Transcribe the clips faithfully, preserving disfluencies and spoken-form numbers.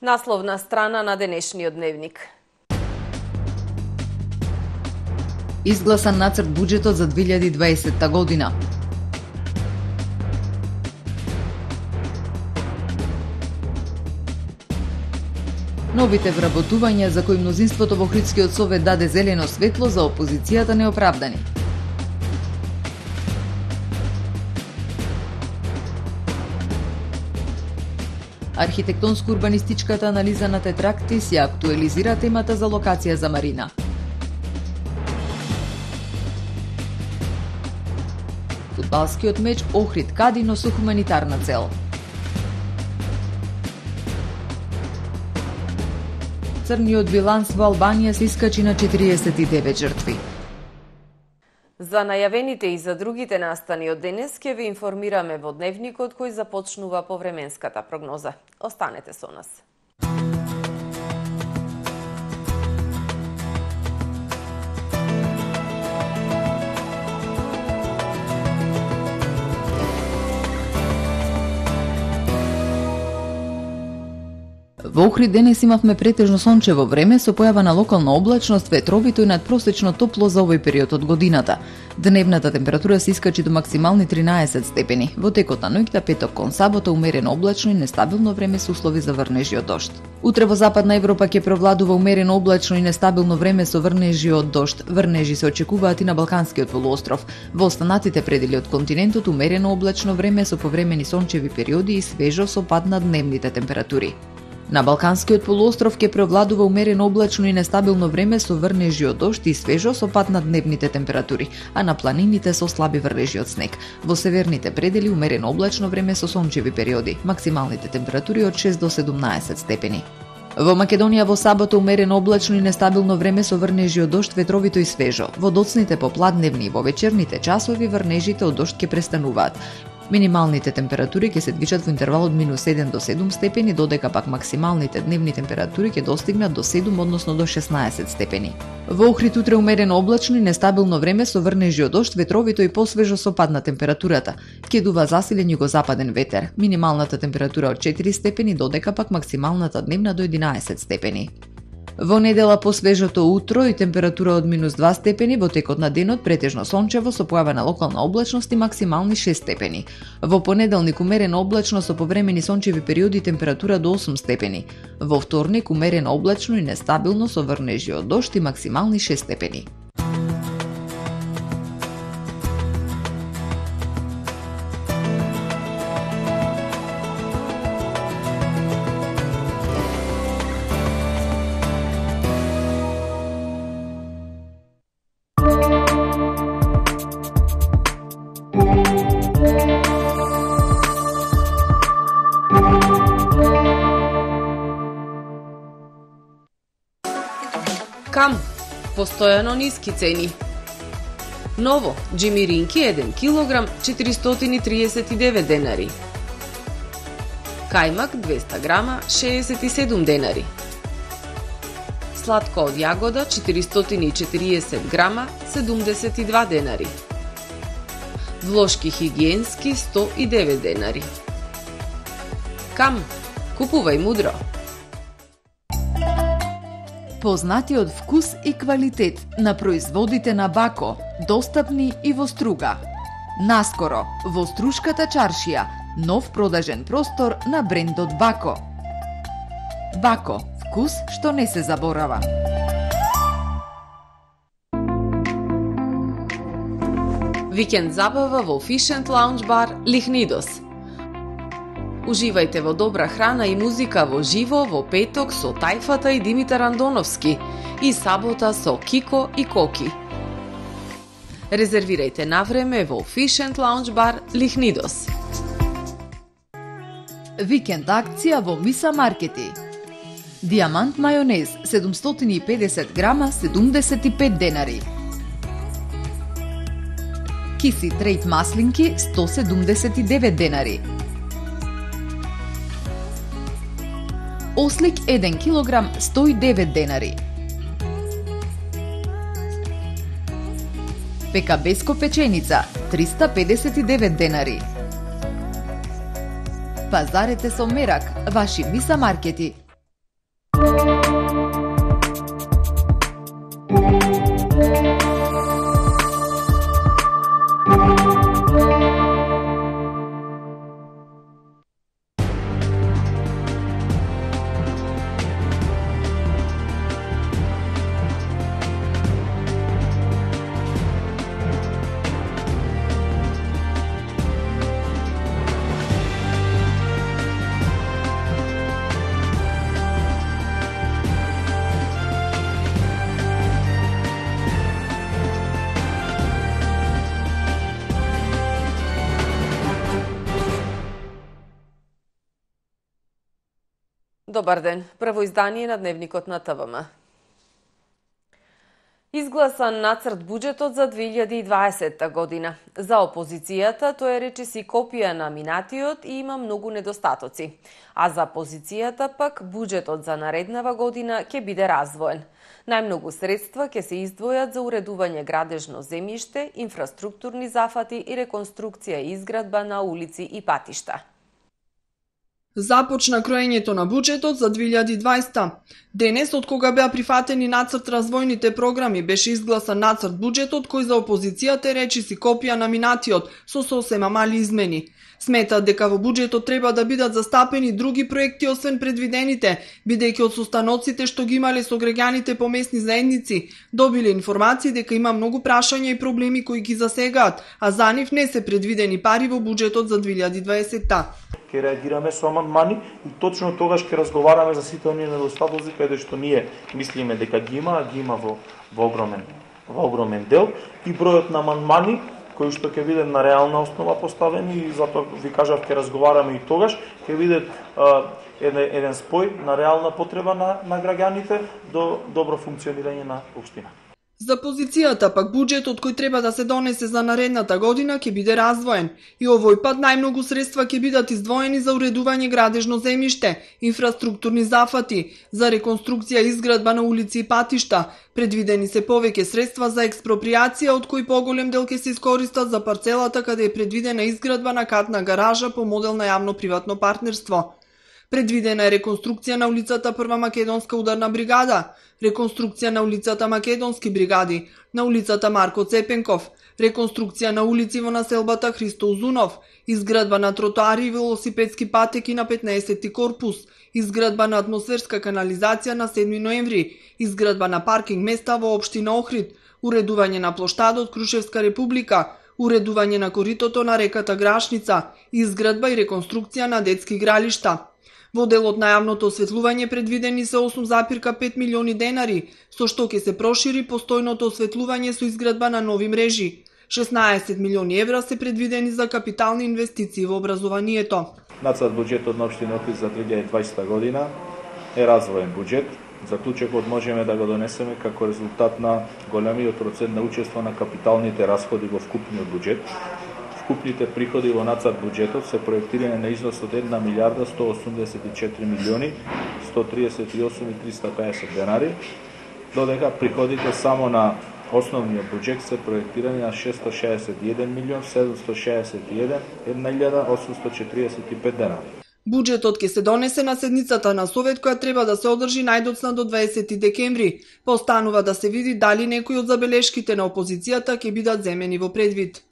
Насловна страна на денешниот дневник. Изгласан нацрт буџетот за две илјади и дваесетта година. Новите вработувања за кои мнозинството во Охридскиот совет даде зелено светло, за опозицијата неоправдани. Архитектонско-урбанистичката анализа на Тетрактис ја актуализира темата за локација за марина. Фудбалскиот меч Охрид Кадино со хуманитарна цел. Црниот биланс во Албанија се искачи на четириесет и девет жртви. За најавените и за другите настани од денес ќе ви информираме во дневникот кој започнува по временската прогноза. Останете со нас. Во Охрид денес имавме претежно сончево време со појава на локална облачност, ветровито и надпросечно топло за овој период од годината. Дневната температура се искачи до максимални тринаесет степени. Во текот на ноќта, петок кон сабота, умерено облачно и нестабилно време со услови за врнежи од дожд. Утре во Западна Европа ќе превладува умерено облачно и нестабилно време со врнежи од дожд. Врнежи се очекуваат и на Балканскиот полуостров. Во останатите предели од континентот умерено облачно време со повремени сончеви периоди и свежо со пад на дневните температури. На Балканскиот полуостров ќе превладува умерено облачно и нестабилно време со врнежи од дожд и свежо со пад на дневните температури, а на планините со слаби врнежи од снег. Во северните предели умерено облачно време со сончеви периоди, максималните температури од шест до седумнаесет степени. Во Македонија во сабота умерено облачно и нестабилно време со врнежи од дожд, ветровито и свежо. Во доцните попладневни и во вечерните часови врнежите од дожд ќе престануваат. Минималните температури ќе се движат во интервал од минус седум до седум степени, додека пак максималните дневни температури ќе достигнат до седум, односно до шеснаесет степени. Во Охрид утре умерено облачно и нестабилно време со врнежи од дожд, ветровито и посвежо со пад на температурата. Ќе дува засилен југозападен ветер. Минималната температура од четири степени, додека пак максималната дневна до единаесет степени. Во недела по свежото утро и температура од минус два степени, во текот на денот претежно сончево со појава на локална облачност и максимални шест степени. Во понеделник умерено облачно со повремени сончеви периоди температура до осум степени. Во вторник умерено облачно и нестабилно со врнежи од дожд и максимални шест степени. Кам, постојано ниски цени. Ново, джимиринки еден килограм четиристотини и триесет и девет денари. Кајмак двеста грама шеесет и седум денари. Сладко од јагода четиристотини и четириесет грама седумдесет и два денари. Влошки хигиенски сто и девет денари. Кам, купувај мудро. Познатиот вкус и квалитет на производите на Бако, достапни и во Струга. Наскоро, во Струшката чаршија, нов продажен простор на брендот Бако. Бако, вкус што не се заборава. Викенд забава во Fish and Lounge бар Лихнидос. Уживајте во добра храна и музика во живо во петок со Тајфата и Димитар Андоновски и сабота со Кико и Коки. Резервирајте на време во Fish and Lounge бар Лихнидос. Викенд акција во Миса Маркети. Диамант мајонез седумстотини и педесет грама седумдесет и пет денари. Киси трейт маслинки сто седумдесет и девет денари. Ослик еден килограм сто и девет денари. Пекабеско печеница триста педесет и девет денари. Пазарете со мерак, ваши Миса Маркети. Добар ден. Прво издание на Дневникот на ТВМ. Изгласан нацрт буџетот за две илјади и дваесетта година. За опозицијата тој е речиси копија на минатиот и има многу недостатоци. А за позицијата пак буџетот за нареднава година ќе биде развоен. Најмногу средства ќе се издвојат за уредување градежно земјиште, инфраструктурни зафати и реконструкција и изградба на улици и патишта. Започна кроењето на буџетот за две илјади и дваесетта. Денес, од кога беа прифатени нацрт развојните програми, беше изгласан нацрт буџетот кој за опозицијата е речиси копија на минатиот, со сосема мали измени. Сметаат дека во буџетот треба да бидат застапени други проекти освен предвидените, бидејќи од состаноците што ги имале со граѓаните по местни заедници, добиле информации дека има многу прашања и проблеми кои ги засегаат, а за нив не се предвидени пари во буџетот за две илјади и дваесетта. Ќе реагираме со амандмани и точно тогаш ќе разговараме за сите оние недостатоци каде што ние мислиме дека ги има, а ги има во, во огромен во огромен дел и бројот на амандмани кои што ќе бидат на реална основа поставени и затоа ви кажав ќе разговараме и тогаш ќе бидат еден, еден спој на реална потреба на, на граѓаните до добро функционирање на општина. За позицијата пак буџетот кој треба да се донесе за наредната година ќе биде развоен и овој пат најмногу средства ќе бидат издвоени за уредување градежно земјиште, инфраструктурни зафати, за реконструкција и изградба на улици и патишта. Предвидени се повеќе средства за експроприација, од кои поголем дел ќе се искористат за парцелата каде е предвидена изградба на катна гаража по модел на јавно-приватно партнерство. Предвидена е реконструкција на улицата Прва македонска ударна бригада, реконструкција на улицата Македонски бригади, на улицата Марко Цепенков, реконструкција на улици во населбата Христо Узунов, изградба на тротоари и велосипедски патеки на петнаесетти корпус, изградба на атмосферска канализација на седми ноември, изградба на паркинг места во општина Охрид, уредување на плоштадот Крушевска република, уредување на коритото на реката Грашница, изградба и реконструкција на детски игралишта. Во делот на јавното осветлување предвидени се осум запирка пет милиони денари, со што ќе се прошири постојното осветлување со изградба на нови мрежи. шеснаесет милиони евра се предвидени за капитални инвестиции во образованието. Нацрт буџетот на општина Охрид за две илјади и дваесетта година е развоен буџет. Заклучокот можеме да го донесеме како резултат на големиот процент на учество на капиталните расходи во вкупниот буџет. Вкупните приходи во нацрт буџетот се проектирани на износ од една милијарда сто осумдесет и четири милиони сто триесет и осум и триста пеесет денари, додека приходите само на основниот буџет се проектирани на шестстотини шеесет и еден милион седумстотини шеесет и една илјада осумстотини четириесет и пет денари. Буџетот ќе се донесе на седницата на Совет која треба да се одржи најдоцна до дваесети декември. Постанува да се види дали некои од забелешките на опозицијата ќе бидат земени во предвид.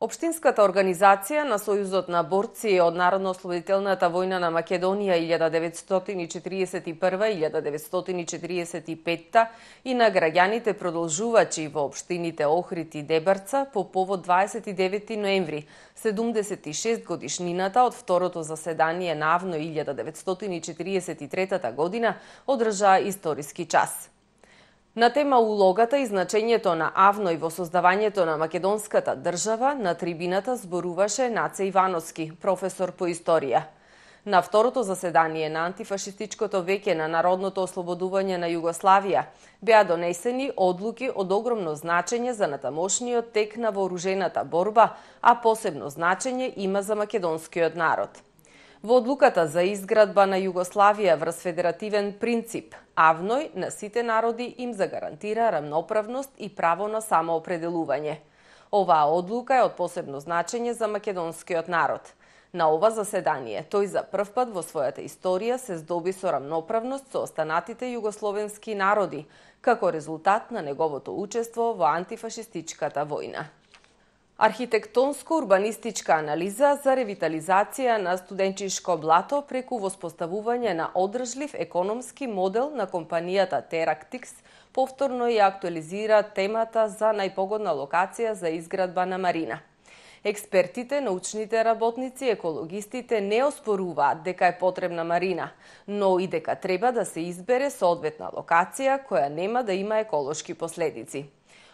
Општинската организација на Сојузот на борци од Народно-ослободителната војна на Македонија илјада деветстотини четириесет и прва - илјада деветстотини четириесет и петта и на граѓаните продолжувачи во општините Охрид и Дебарца по повод дваесет и деветти ноември, седумдесет и шест годишнината од второто заседание на АВНО илјада деветстотини четириесет и трета година одржаа историски час. На тема улогата и значењето на АВНО и во создавањето на македонската држава, на трибината зборуваше Наце Ивановски, професор по историја. На второто заседание на антифашистичкото веќе на народното ослободување на Југославија беа донесени одлуки од огромно значење за натамошниот тек на вооружената борба, а посебно значење има за македонскиот народ. Во одлуката за изградба на Југославија врз федеративен принцип, АВНОј на сите народи им загарантира рамноправност и право на самоопределување. Оваа одлука е од посебно значење за македонскиот народ. На ова заседание тој за прв пат во својата историја се здоби со рамноправност со останатите југословенски народи, како резултат на неговото учество во антифашистичката војна. Архитектонско-урбанистичка анализа за ревитализација на студенчишко блато преку воспоставување на одржлив економски модел на компанијата Терактикс повторно ја актуализира темата за најпогодна локација за изградба на марина. Експертите, научните работници, екологистите не оспоруваат дека е потребна марина, но и дека треба да се избере соодветна локација која нема да има еколошки последици.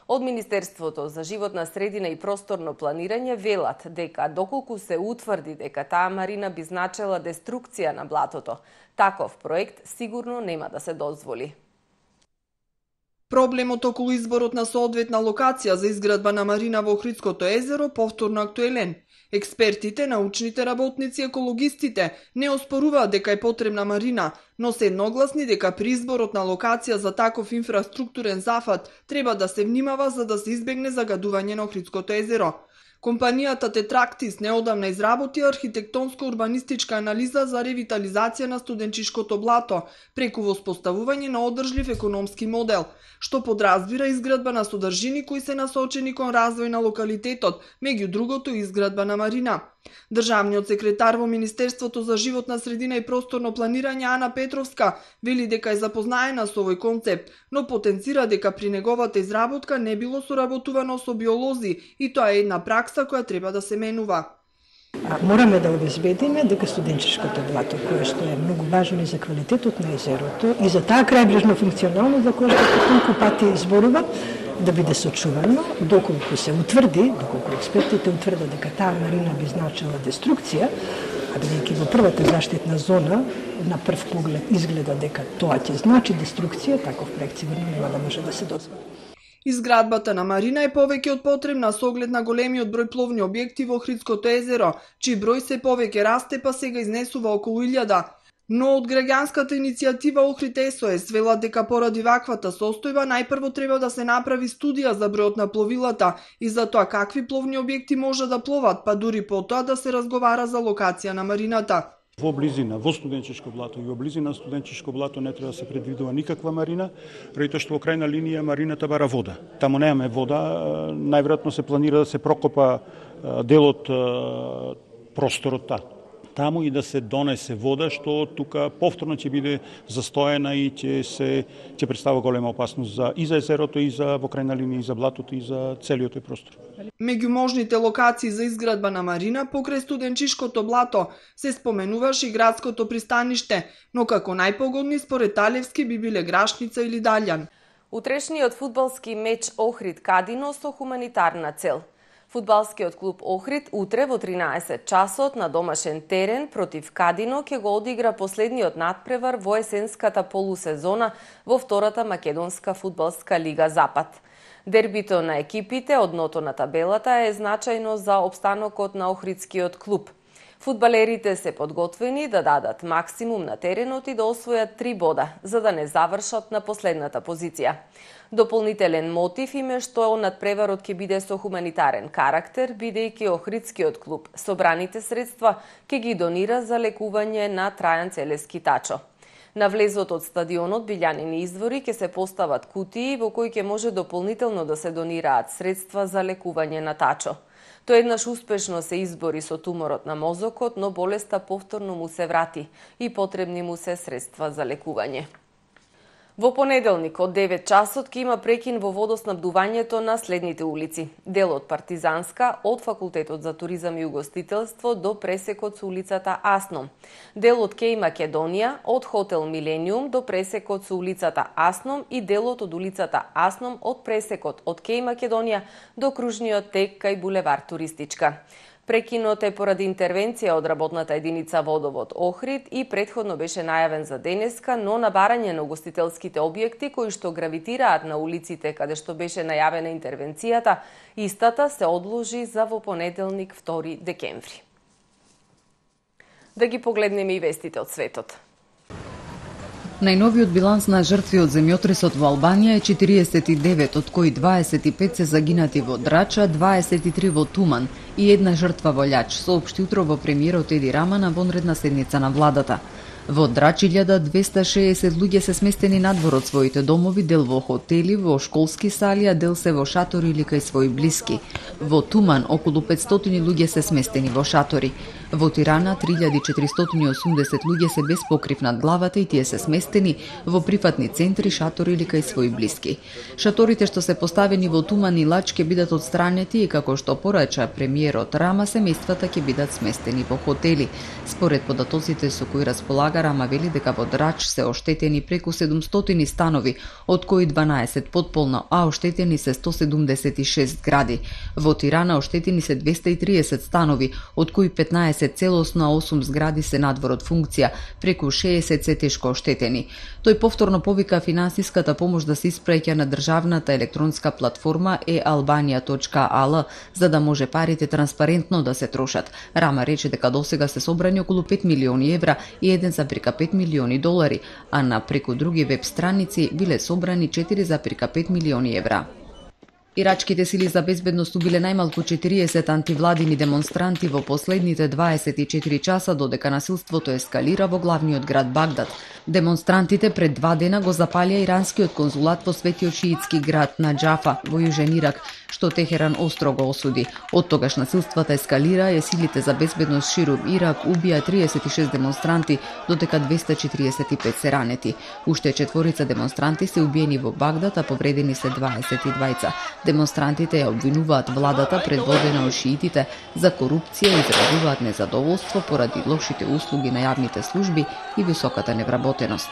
Од Министерството за животна средина и просторно планирање велат дека доколку се утврди дека таа марина би значела деструкција на блатото, таков проект сигурно нема да се дозволи. Проблемот околу изборот на соодветна локација за изградба на марина во Охридското езеро повторно актуелен. Експертите, научните работници, екологистите не оспоруваат дека е потребна марина, но се едногласни дека при изборот на локација за таков инфраструктурен зафат треба да се внимава за да се избегне загадување на Охридското езеро. Компанијата Тетрактис неодамна изработи архитектонско-урбанистичка анализа за ревитализација на студенчишкото блато преку воспоставување на одржлив економски модел, што подразбира изградба на содржини кои се насочени кон развој на локалитетот, меѓу другото изградба на марина. Државниот секретар во Министерството за животна средина и просторно планирање Ана Петровска вели дека е запознаена со овој концепт, но потенцира дека при неговата изработка не било соработувано со биолози и тоа е една пракса која треба да се менува. Мораме да обезбедиме дека студенчишкото блато, кое што е многу важно и за квалитетот на езерото и за таа крајбрежна функционалност за која што толку пати зборува, да биде сочувано, доколку се утврди, доколку експертите утврдат дека таа марина би значила деструкција, а бидејќи во првата заштитна зона на прв поглед изгледа дека тоа ќе значи деструкција, таков проект сигурно нема да може да се дозволи. Изградбата на марина е повеќе од потребна со оглед на големиот број пловни објекти во Охридското езеро, чиј број се повеќе расте, па сега изнесува околу илјада. Но од граѓанската иницијатива Охрид ес о ес велат дека поради ваквата состојба најпрво треба да се направи студија за бројот на пловилата и за тоа какви пловни објекти може да пловат, па дури потоа да се разговара за локација на марината. Во близина, во студенчишко блато и во близина студенчишко блато не треба да се предвидува никаква марина, преди тоа што во крајна линија марината бара вода. Таму немаме вода, најверојатно се планира да се прокопа дел од просторот та. Таму и да се донесе вода, што тука повторно ќе биде застоена и ќе се ќе представува голема опасност за и за езерото и за во крајна линија и за блатото и за целиот тој простор. Меѓу можните локации за изградба на марина покрај студенчишкото блато се споменуваше и градското пристаниште, но како најпогодни според Талевски би биле Грашница или Далјан. Утрешниот фудбалски меч Охрид Кадино со хуманитарна цел. Фудбалскиот клуб Охрид утре во тринаесет часот на домашен терен против Кадино ќе го одигра последниот надпревар во есенската полусезона во втората македонска фудбалска лига Запад. Дербито на екипите од дното на табелата е значајно за опстанокот на Охридскиот клуб. Фудбалерите се подготвени да дадат максимум на теренот и да освојат три бода, за да не завршат на последната позиција. Дополнителен мотив им е што надпреварот ќе биде со хуманитарен карактер, бидејќи Охридскиот клуб собраните средства ќе ги донира за лекување на Трајан Целески Тачо. На влезот од стадионот Билјанини извори ќе се постават кутии во кои ќе може дополнително да се донираат средства за лекување на Тачо. Тој еднаш успешно се избори со туморот на мозокот, но болеста повторно му се врати и потребни му се средства за лекување. Во понеделник од девет часот ќе има прекин во водоснабдувањето на следните улици. Дел од Партизанска од Факултетот за туризам и угостителство до пресекот со улицата Асном. Дел од Кеј Македонија од Хотел Милениум до пресекот со улицата Асном и делот од улицата Асном од пресекот од Кеј Македонија до кружниот тек кај булевар Туристичка. Прекинот е поради интервенција од работната единица Водовод Охрид и претходно беше најавен за денеска, но на барање на угостителските објекти кои што гравитираат на улиците каде што беше најавена интервенцијата, истата се одложи за во понеделник втори декември. Да ги погледнеме и вестите од светот. Најновиот биланс на жртви од земјотресот во Албанија е четириесет и девет, од кои дваесет и пет се загинати во Драча, дваесет и три во Туман и една жртва во Лјач, соопшти утро во премиерот Еди Рама на вонредна седница на владата. Во Драч илјада двесте шеесет луѓе се сместени надвор од своите домови, дел во хотели, во школски сали, а дел се во шатори или кај своји блиски. Во Туман околу петстотини луѓе се сместени во шатори. Во Тирана три илјади четиристотини и осумдесет луѓе се без покрив над главата и тие се сместени во прифатни центри, шатори или кај своји блиски. Шаторите што се поставени во Туман и Лач ќе бидат отстранети и како што порача премиерот Рама, семејствата ќе бидат сместени во хотели. Според податоците со кои располага, Рама вели дека во Драч се оштетени преку седумстотини станови, од кои дванаесет потполно, а оштетени се сто седумдесет и шест згради. Во Тирана оштетени се двесте и триесет станови, од кои петнаесет целосно, а осум згради се надвор од функција, преку шеесет се тешко оштетени. Тој повторно повика финансиската помош да се испраќа на државната електронска платформа е албанија точка а л, за да може парите транспарентно да се трошат. Рама рече дека досега се собрани околу пет милиони евра и еден запир пет милиони долари, а на преку други веб страници биле собрани четири запир пет милиони евра. Ирачките сили за безбедност убиле најмалку четириесет антивладини демонстранти во последните дваесет и четири часа, додека насилството ескалира во главниот град Багдад. Демонстрантите пред два дена го запалија иранскиот конзулат во светиот шиитски град Наџафа во јужен Ирак, што Техеран остро го осуди. Од тогаш насилствата ескалира и силите за безбедност ширум Ирак убија триесет и шест демонстранти, додека двесте четириесет и пет се ранети. Уште четворица демонстранти се убиени во Багдад, а повредени се дваесет и двајца. Демонстрантите ја обвинуваат владата, предводена од шиитите, за корупција и изразуваат незадоволство поради лошите услуги на јавните служби и високата невработеност.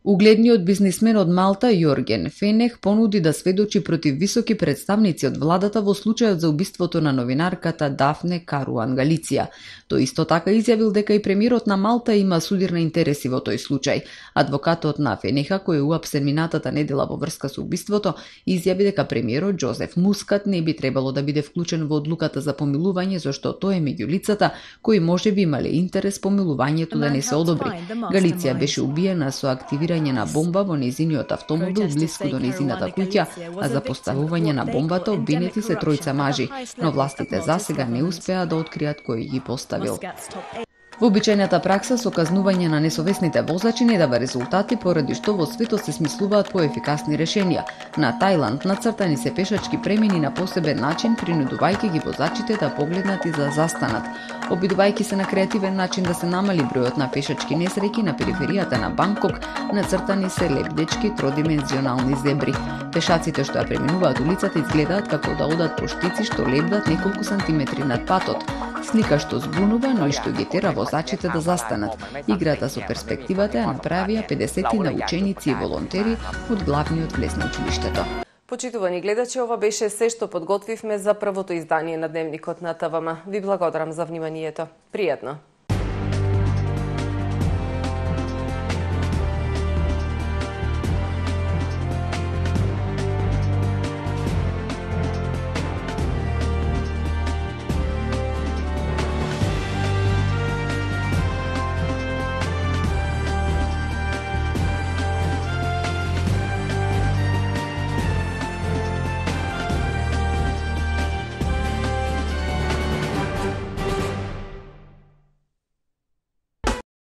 Угледниот бизнисмен од Малта, Јорген Фенех, понуди да сведочи против високи представници од владата во случајот за убиството на новинарката Дафне Каруан Галиција. Тој исто така изјавил дека и премиерот на Малта има судирни интереси во тој случај. Адвокатот на Фенеха, кој е уапсен минатата недела во врска со убиството, изјави дека премиерот Џозеф Мускат не би требало да биде вклучен во одлуката за помилување, зашто тој е меѓу лицата кои можеби имале интерес помилувањето да не се одобри. Галиција беше убиена со активирање на бомба во незиниот автомобил блиску до незината куќа, а за поставување на бомбата обвинети се тројца мажи, но властите засега не успеа да откријат кој ги поставил. Вообичајната пракса со казнување на несовесните возачи не дава резултати, поради што во светот се смислуваат поефикасни решенија. На Тајланд нацртани се пешачки премини на посебен начин, принудувајќи ги возачите да погледнат и да застанат. Обидувајќи се на креативен начин да се намали бројот на пешачки несреќи на периферијата на Банкок, нацртани се лебдечки тродимензионални зебри. Пешаците што ја преминуваат улицата изгледаат како да одат по штици што лебдат неколку сантиметри над патот. Слика што збунува, но и што ги тера возачите да застанат. Играта со перспективата ја направија педесетина ученици и волонтери од главниот влез на училиштето. Почитувани гледачи, ова беше се што подготвивме за првото издание на Дневникот на ТВМ. Ви благодарам за вниманието. Пријатно!